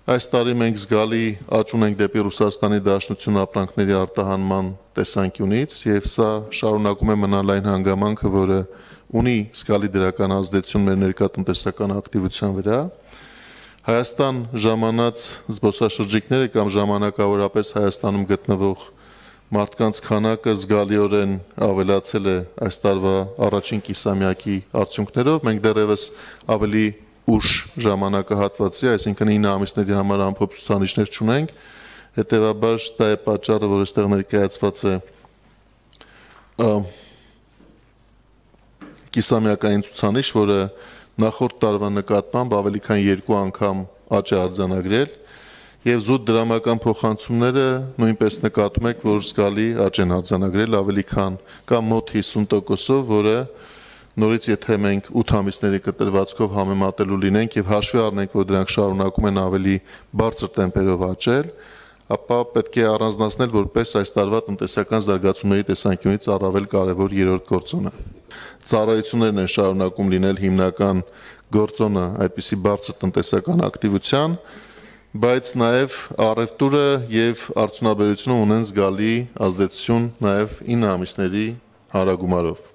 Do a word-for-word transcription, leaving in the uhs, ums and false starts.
Այս տարի մենք զգալի աճ ունենք դեպի Ռուսաստանի Դաշնություն ապրանքների արտահանման տեսանկյունից եւ սա շարունակում է մնալ այն հանգամանքը, որը ունի զգալի դրական ազդեցություն մեր ներկայատնտեսական ակտիվության վրա։ Հայաստան ժամանած զբոսաշրջիկները կամ ժամանակավորապես Հայաստանում գտնվող մարդկանց քանակը զգալիորեն ավելացել է այս տարվա առաջին կիսամյակի արդյունքներով։ Մենք դեռևս ավելի ուշ ժամանակահատվածի, այսինքն ինը ամիսների համար ամփոփ ցուցանիշներ չունենք, հետևաբար դա է պատճառը, որ այստեղ ներկայացված է կիսամյակային ցուցանիշ, որը նախորդ տարվա նկատմամբ ավելի քան երկու անգամ աճ է արձանագրել, եւ զուտ դրամական փոխանցումները նույնպես նկատում եք, որ զգալի աճ են արձանագրել ավելի քան կամ մոտ հիսուն տոկոսով, որը նորից եթե մենք ութ ամիսների կտրվածքով համեմատելու լինենք եւ հաշվի առնենք, որ դրանք շարունակում են ավելի բարձր տեմպերով աճել, ապա պետք է առանձնացնել որպես այս տարվա տնտեսական զարգացումների տեսանկյունից առավել կարևոր երրորդ գործոնը։ Ծառայություններն են շարունակում լինել հիմնական գործոնը այդպիսի բարձր տնտեսական ակտիվության, բայց նաև առևտուրը եւ արդյունաբերությունը ունեն զգալի ազդեցություն նաև ինը ամիսների հարագումարով։